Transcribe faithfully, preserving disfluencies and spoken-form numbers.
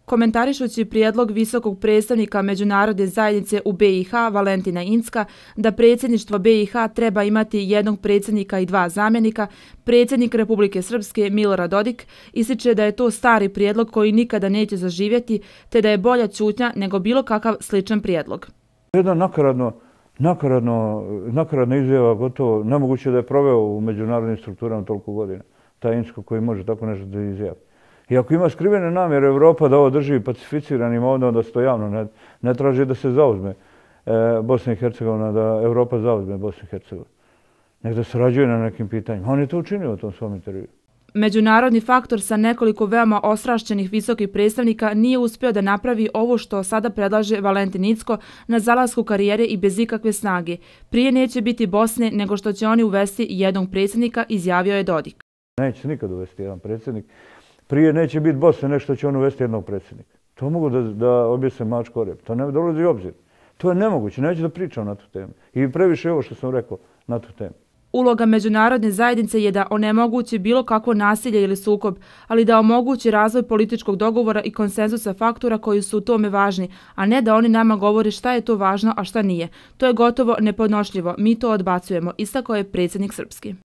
Komentarišući prijedlog visokog predstavnika međunarodne zajednice u B i H Valentina Incka da predsjedništvo B i H treba imati jednog predsjednika i dva zamjenika, predsjednik Republike Srpske Milorad Dodik ističe da je to stari prijedlog koji nikada neće zaživjeti, te da je bolja ćutnja nego bilo kakav sličan prijedlog. Jedna nakaradno, nakaradno, nakaradna izjava, gotovo nemoguće da je proveo u međunarodnim strukturama toliko godina. Taj Incko koji može tako nešto da izjavi. I ako ima skrivene namjere Evropa da ovo drži pacificiranim ovdje, onda se to javno ne, ne traži da se zauzme e, Bosna i Hercegovina, da Evropa zauzme Bosnu i Hercegovinu. Nek da sarađuje na nekim pitanjima. On je to učinio u tom svom intervju. Međunarodni faktor sa nekoliko veoma ostrašćenih visokih predstavnika nije uspio da napravi ovo što sada predlaže Valentin Incko na zalasku karijere i bez ikakve snage. Prije neće biti Bosne nego što će oni uvesti jednog predsjednika, izjavio je Dodik. Neće nikad uvesti jedan predsjednik. Prije neće biti Bosne nešto će on uvesti jednog predsjednika. To mogu da, da objese mačku o rep. To ne dolazi u obzir. To je nemoguće. Neću da pričam na tu temu. I previše ovo što sam rekao na tu temu. Uloga međunarodne zajednice je da onemogući bilo kakvo nasilje ili sukob, ali da omogući razvoj političkog dogovora i konsenzusa faktora koji su u tome važni, a ne da oni nama govore šta je to važno, a šta nije. To je gotovo nepodnošljivo. Mi to odbacujemo, istakao je predsjednik Srpski.